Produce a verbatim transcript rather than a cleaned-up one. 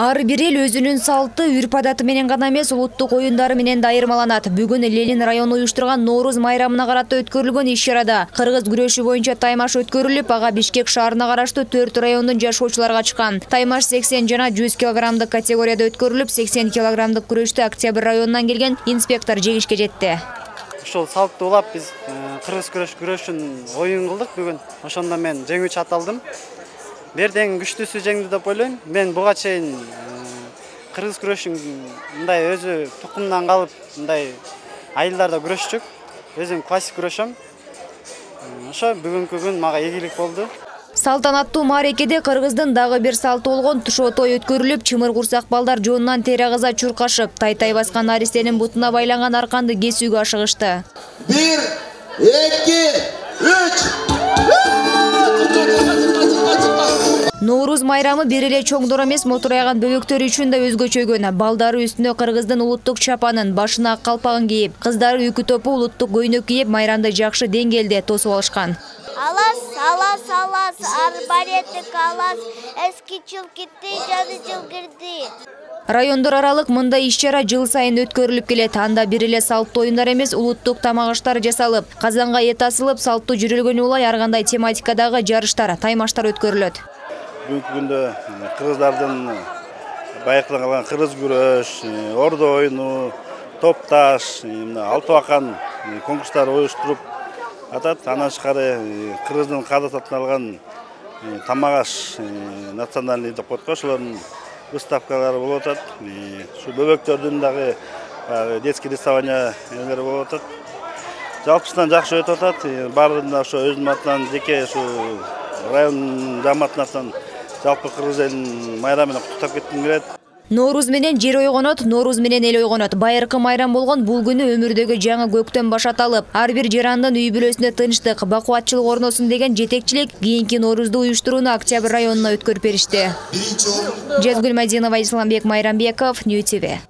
Ар бир эл өзүнүн салты, үрп-адаты менен гана эмес, улуттук оюндары менен да айырмаланат. Бүгүн Ленин району уюштурган Нооруз майрамына карата өткөрүлгөн иш-чарада кыргыз күрөшү боюнча таймаш өткөрүлүп, ага Бишкек шаарына караштуу төрт райондун жашоочулары качкан. Таймаш сексен жана жүз килограммдык категорияда өткөрүлүп, сексен килограммдык күрөштү Октябрь районунан келген инспектор жеңишке жетти. Ушул салтты улап биз кыргыз күрөш күрөшүн оюн кылдык бүгүн. Ошондо мен жеңүүчү аталдым. Берден күчтүүсү жеңди деп ойлойм. Мен буга чейин кыргыз күрөшүн мындай өзү тукумдан калып, мындай айылдарда күрөшчүк. Өзүм классик күрөшөм. Ошо бүгүнкү күн мага ийгилик болду. Салтанаттуу маарекеде кыргыздын дагы бир салты болгон тушоо той өткөрүлүп, чымыр курсак балдар жоонунан тери агыза чуркашып, тай-тай баскан наристенин бутуна байланган арканды кесүүгө ашыгышты. Бир, эки, үч. Нооруз майрамы бир эле чоңдор эмес, мотурайган бөбөктөр үчүн да өзгөчөгөн. Балдары үстүнө кыргыздын улуттук чапанын, башына ак калпагын кийип, кыздары үкү топу улуттук көйнөк кийип, майрамды жакшы деңгээлде тосуп алышкан. Алас, алас, алас, арбареты калас, эски жыл кетти, жаңы жыл кирди. Райондор аралык мындай иш-чара жыл сайын өткөрүлүп келет. Анда бир эле салттуу оюндар эмес, улуттук тамак аштар жасалып, казанга эт асылып, салттуу жүрөлгөнү улай ар кандай тематикадагы жарыштар, таймаштар өткөрүлөт. Бүгүнкү күндө кыргыздардын байыркыдан калган кыргыз күрөш, ордо оюну, топташ, алтı акан конкурстар уюштуруп атат. Андан тышкары кыргыздын каадатын алган тамак аш национальный деп коет го, ошолордун выставкалары болуп атат. Ушу бөбөктөрдүн дагы детский рисование эмелери болуп атат. Жалпысынан жакшы өтүп атат. Баардыгын да ошо өзүмдүн атынан, жеке ушу район жамааттын атынан жалпы кыргыз элин майрам менен куттуктап кетким келет. Нооруз менен жер ойгонот, Нооруз менен эл ойгонот. Байыркы майрам болгон бул күнү өмүрдөгү жаңы көктөм башаталып, ар бир жарандын үй бүлөсүндө тынчтык, бакубатчылык орносун деген жетекчилик кийинки Ноорузду уюштурууну Октябрь районуна өткөрүп беришти. Жезгүл Мадинова, Исламбек Майрамбеков, Нью ти ви.